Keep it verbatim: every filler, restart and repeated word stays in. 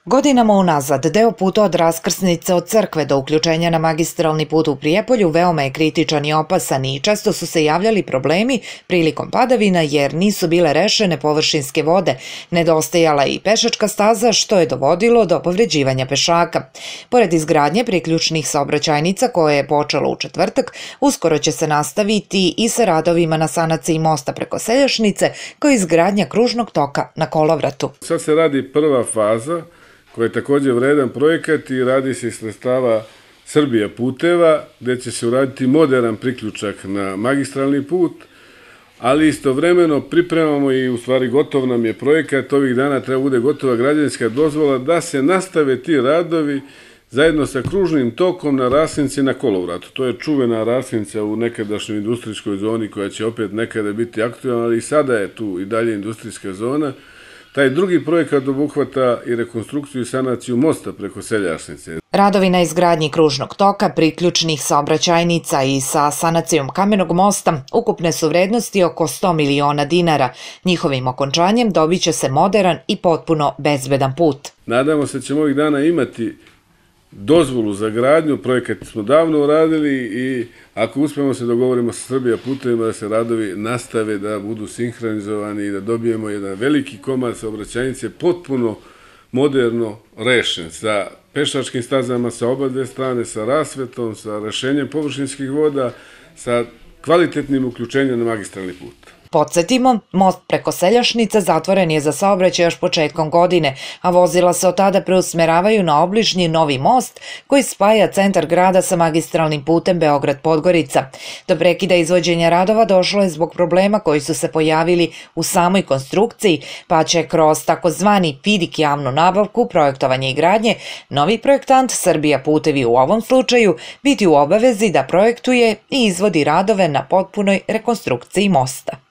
Godinama unazad, deo puta od raskrsnice od crkve do uključenja na magistralni put u Prijepolju veoma je kritičan i opasan i često su se javljali problemi prilikom padavina jer nisu bile rešene površinske vode, nedostajala i pešačka staza što je dovodilo do povređivanja pešaka. Pored izgradnje priključnih saobraćajnica koje je počelo u četvrtak, uskoro će se nastaviti i sa radovima na sanaciji mosta preko Seljašnice kao i izgradnja kružnog toka na kolovratu. Sad se radi prva faza koji je također vredan projekat i radi se iz sredstava Srbija puteva, gdje će se uraditi moderan priključak na magistralni put, ali istovremeno pripremamo i u stvari gotov nam je projekat, ovih dana treba bude gotova građevinska dozvola da se nastave ti radovi zajedno sa kružnim tokom na rasnici na kolovratu. To je čuvena rasnica u nekadašnjoj industrijskoj zoni koja će opet nekada biti aktualna, ali i sada je tu i dalje industrijska zona. Taj drugi projekat obuhvata i rekonstrukciju i sanaciju mosta preko Seljašnice. Radovi na izgradnji kružnog toka, priključnih saobraćajnica i sa sanacijom kamenog mosta ukupne su vrednosti oko sto miliona dinara. Njihovim okončanjem dobit će se moderan i potpuno bezbedan put. Nadamo se da ćemo ovih dana imati dozvolu za gradnju, projekat smo davno uradili i ako uspemo se dogovorimo sa Srbija putevima da se radovi nastave, da budu sinhronizovani i da dobijemo jedan veliki komad saobraćajnice potpuno moderno rešen, sa pešačkim stazama sa oba dve strane, sa rasvetom, sa rešenjem površinskih voda, sa kvalitetnim uključenjem na magistralni put. Podsjetimo, most preko Seljašnice zatvoren je za saobraćaj još početkom godine, a vozila se od tada preusmeravaju na obližnji novi most koji spaja centar grada sa magistralnim putem Beograd-Podgorica. Do prekida izvođenja radova došlo je zbog problema koji su se pojavili u samoj konstrukciji, pa će kroz takozvani fidik javnu nabavku, projektovanje i gradnje, novi projektant Srbija putevi u ovom slučaju biti u obavezi da projektuje i izvodi radove na potpunoj rekonstrukciji mosta.